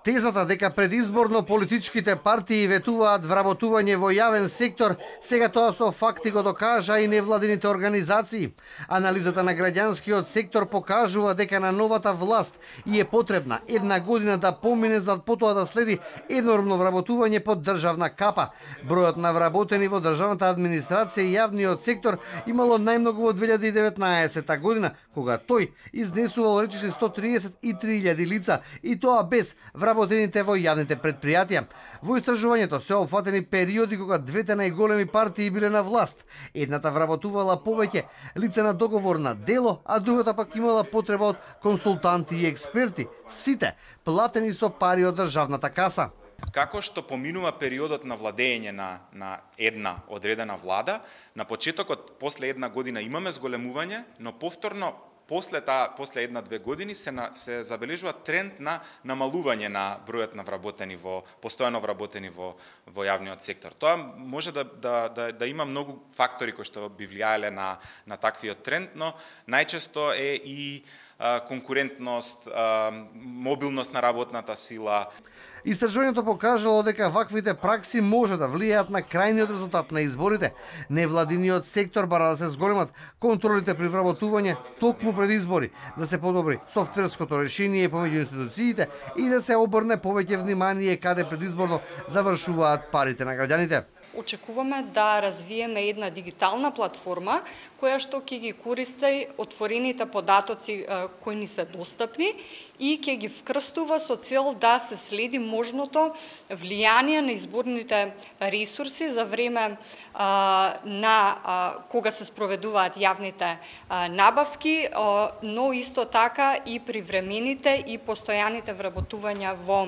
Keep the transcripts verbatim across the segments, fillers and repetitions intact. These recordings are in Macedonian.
Тезата дека предизборно политичките партии ветуваат вработување во јавен сектор, сега тоа со факти го докажа и невладините организации. Анализата на граѓанскиот сектор покажува дека на новата власт и е потребна една година да помине за потоа да следи енормно вработување под државна капа. Бројот на вработени во државната администрација и јавниот сектор имало најмногу во две илјади и деветнаесетта година, кога тој изнесувал речиси сто триесет и три илјади лица, и тоа без вработените во јавните предпријатија. Во истражувањето се опфатени периоди кога двете најголеми партии биле на власт. Едната вработувала повеќе лица на договор на дело, а другата пак имала потреба од консултанти и експерти, сите платени со пари од државната каса. Како што поминува периодот на владење на, на една одредена влада, на почетокот, после една година имаме зголемување, но повторно после таа после една-две години се на, се забележува тренд на намалување на бројот на вработени во постојано вработени во во јавниот сектор. Тоа може да да да, да има многу фактори кои што би влијаеле на на таквиот тренд, но најчесто е и а, конкурентност, а, мобилност на работната сила. Истражувањето покажало дека ваквите пракси може да влијаат на крајниот резултат на изборите. Невладиниот сектор бара да се зголемат контролите при вработување токму пред избори, да се подобри софтверското решение помеѓу институциите и да се обрне повеќе внимание каде предизборно завршуваат парите на граѓаните. Очекуваме да развиеме една дигитална платформа која што ќе ги користи отворените податоци кои ни се достапни и ќе ги вкрстува со цел да се следи можното влијание на изборните ресурси за време а, на а, кога се спроведуваат јавните а, набавки, а, но исто така и привремените и постојаните вработувања во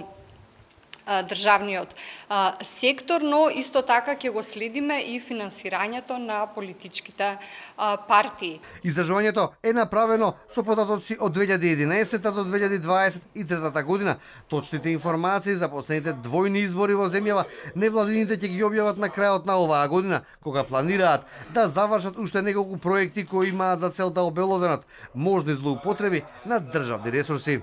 државниот а, сектор, но исто така ќе го следиме и финансирањето на политичките а, партии. Истражувањето е направено со податоци од две илјади и единаесетта до две илјади дваесет и трета година. Точните информации за последните двојни избори во земјава невладините ќе ги објават на крајот на оваа година, кога планираат да завршат уште неколку проекти кои имаат за цел да обелоденат можни злоупотреби на државни ресурси.